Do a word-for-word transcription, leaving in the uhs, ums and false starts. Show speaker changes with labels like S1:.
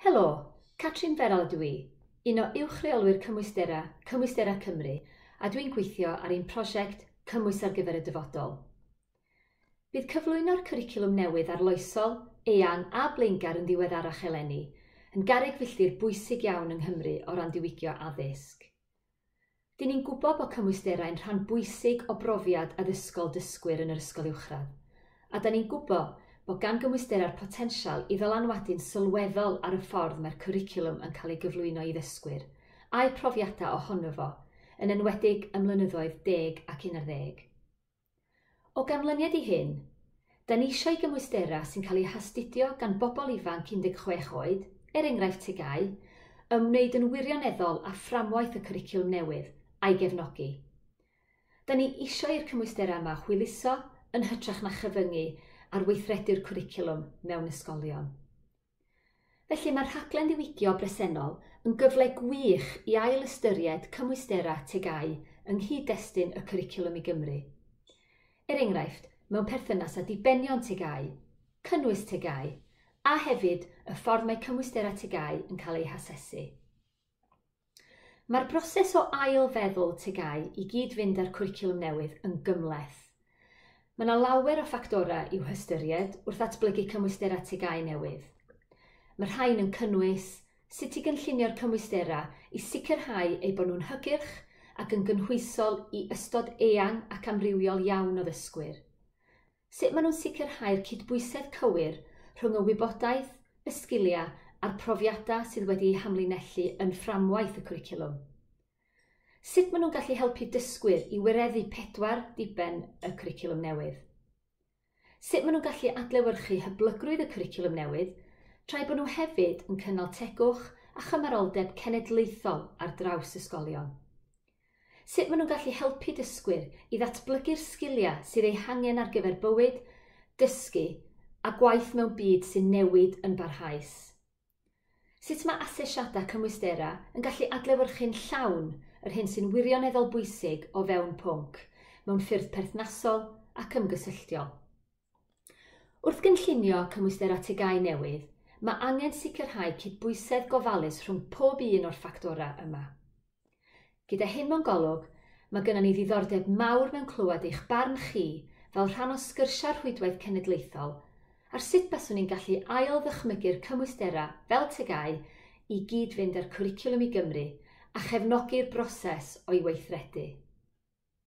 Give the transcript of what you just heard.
S1: Helo, Catrin Ferral ydw i, un o uwch reolwyr cymwysterau Cymwysterau Cymru, a dwi'n gweithio ar ein prosiect Cymwys ar gyfer y dyfodol. Bydd cyflwyno'r cwricwlwm newydd arloesol, eang a blaengar yn ddiweddarach eleni yn garreg filltir bwysig iawn yng Nghymru o ran diwygio addysg. Dyn ni'n gwybod bod cymwysterau'n rhan bwysig o brofiad addysgol dysgwyr yn yr ysgol uwchradd, a da ni'n gwybod bod gan gymwysterau'r potensial i ddylanwadu'n sylweddol ar y ffordd mae'r cwricwlwm yn cael ei gyflwyno i ddysgwyr, a'u profiadau ohono fo, yn enwedig ym mlynyddoedd deg ac un ar ddeg. O ganlyniad i hyn, da ni eisiau gymwysterau sy'n cael eu hastudio gan bobl ifanc un deg chwech oed, er enghraifft T G A U, ymwneud yn wirioneddol â fframwaith y cwricwlwm newydd a'i gefnogi. Da ni eisiau i'r cymwysterau yma hwyluso yn hytrach na chyfyngu ar weithredu'r cwricwlwm mewn ysgolion. Felly mae'r rhaglen ddiwygio bresennol yn gyfle gwych i ail-ystyried cymwysterau T G A U yng nghyd-destun y cwricwlwm i Gymru. Er enghraifft, mewn perthynas â dibenion T G A U, cynnwys T G A U, a hefyd y ffordd mae cymwysterau T G A U yn cael eu hasesu. Mae'r broses o ail-feddwl T G A U i gyd-fynd â'r cwricwlwm newydd yn gymhleth. Mae yna lawer o ffactorau i'w hystyried wrth ddatblygu cymwysterau T G A U newydd. Mae rhain yn cynnwys sut i gynllunio'r cymwysterau i sicrhau eu bod nhw'n hygyrch ac yn gynhwysol i ystod eang ac amrywiol iawn o ddysgwyr. Sut maen nhw'n sicrhau'r cydbwysedd cywir rhwng y wybodaeth, y sgiliau a'r profiadau sydd wedi'u hamlinellu yn fframwaith y cwricwlwm. Sut maen nhw'n gallu helpu dysgwyr i wireddu pedwar diben y cwricwlwm newydd. Sut maen nhw'n gallu adlewyrchu hyblygrwydd y cwricwlwm newydd, tra'i bod nhw hefyd yn cynnal tegwch a chymaroldeb cenedlaethol ar draws ysgolion. Sut maen nhw'n gallu helpu dysgwyr i ddatblygu'r sgiliau sydd eu hangen ar gyfer bywyd, dysgu a gwaith mewn byd sy'n newid yn barhaus. Sut mae asesiadau cymwysterau yn gallu adlewyrchu'n llawn yr hyn sy'n wirioneddol bwysig o fewn pwnc, mewn ffyrdd perthnasol ac ymgysylltiol. Wrth gynllunio cymwysterau T G A U newydd, mae angen sicrhau cydbwysedd gofalus rhwng pob un o'r ffactorau yma. Gyda hyn mewn golwg, mae gennym ni ddiddordeb mawr mewn clywed eich barn chi fel rhan o sgyrsiau'r rhwydwaith cenedlaethol ar sut baswn ni'n gallu ail-ddychmygu'r cymwysterau fel T G A U i gyd-fynd â'r cwricwlwm i Gymru a chefnogi'r broses o'i weithredu.